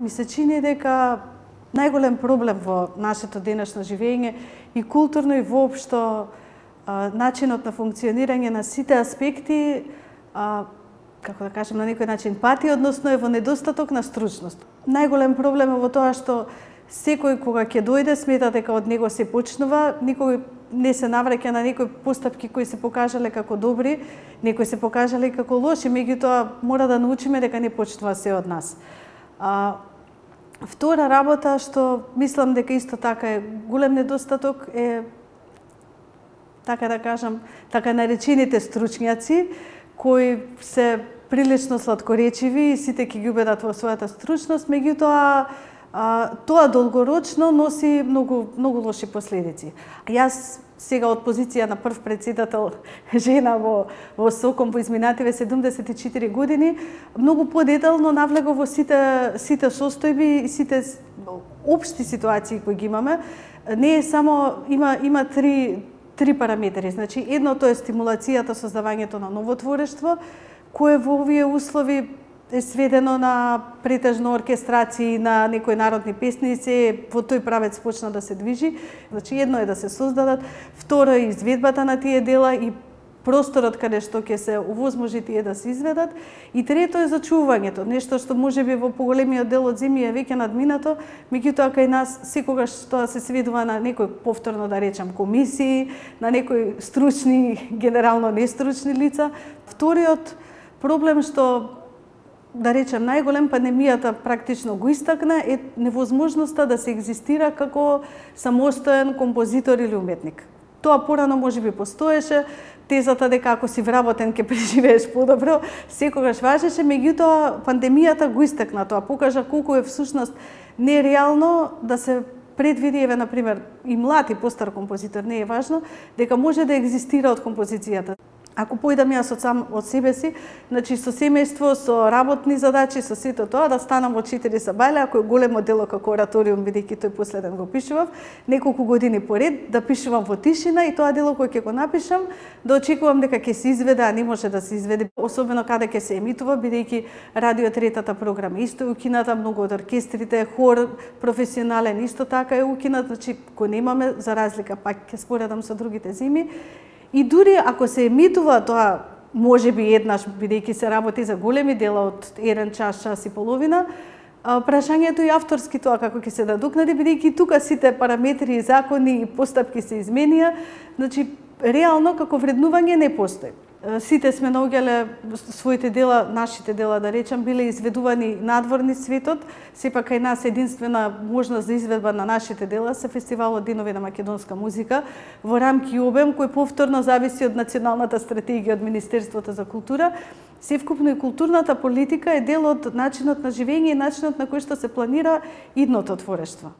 Ми се чини дека најголем проблем во нашето денешно живење и културно и воопшто начинот на функционирање на сите аспекти, како да кажем, на некој начин пати, односно е во недостаток на стручност. Најголем проблем е во тоа што секој кога ќе дојде смета дека од него се почнува, никој не се навраќа на некои постапки кои се покажале како добри, некои се покажале како лоши, меѓутоа мора да научиме дека не почнува се од нас. Втора работа што мислам дека исто така е голем недостаток е, така да кажам, така наречените стручњаци кои се прилично сладкоречиви и сите ќе ги убедат во својата стручност, меѓутоа тоа долгорочно носи многу лоши последици. Јас сега од позиција на прв претседател жена во СОКОМ во изминативе 74 години, многу подетално навлегов во сите состојби и сите општи ситуации кои ги имаме. Не е само, има три параметри. Значи, едното е стимулацијата, создавањето на ново творештво, кое во овие услови е сведено на претежно оркестрации на некои народни песници, во тој правец почна да се движи. Значи, едно е да се создадат, второ е изведбата на тие дела и просторот каде што ќе се овозможи тие да се изведат, и трето е зачувањето, нешто што можеби во поголемиот дел од земја е веќе надминато, меѓутоа кај нас секогаш тоа се сведува на некои, повторно да речам, комисии, на некои стручни, генерално нестручни лица. Вториот проблем што, да речем, најголем пандемијата практично го истакна е невозможноста да се екзистира како самостоен композитор или уметник. Тоа порано можеби постоеше, тезата дека ако си вработен ќе преживееш подобро, секогаш важеше, меѓутоа пандемијата го истакна тоа, покажа колку е всушност нереално да се предвиди, еве, например, и млад и постар композитор, не е важно, дека може да екзистира од композицијата. Ако појдам јас од себе си, значи со семејство, со работни задачи, со сето тоа, да станам во 4 сабајле, ако е големо дело како ораториум, бидејќи тој последен го пишував, неколку години поред, да пишувам во тишина и тоа дело кој ќе го напишам, да очекувам дека ќе се изведе, а не може да се изведе, особено каде ќе се емитува, бидејќи радио третата програма исто е укината, многу од оркестрите, хор професионален исто така е укинат, значи го немаме, за разлика пак ќе споредам со другите земи. И дури ако се емитува тоа, можеби еднаш, бидејќи се работи за големи дела од 1 час, час и половина, прашањето и авторски тоа како ќе се надокнади, бидејќи тука сите параметри, закони и постапки се изменија, значи реално како вреднување не постои. Сите сме наоѓале своите дела, нашите дела да речам, биле изведувани надворни светот, сепак кај нас единствена можност за изведба на нашите дела се фестивалот Денови на македонска музика во рамки и обем кој повторно зависи од националната стратегија од Министерството за култура. Севкупно и културната политика е дел од начинот на живење и начинот на кој што се планира идното творештво.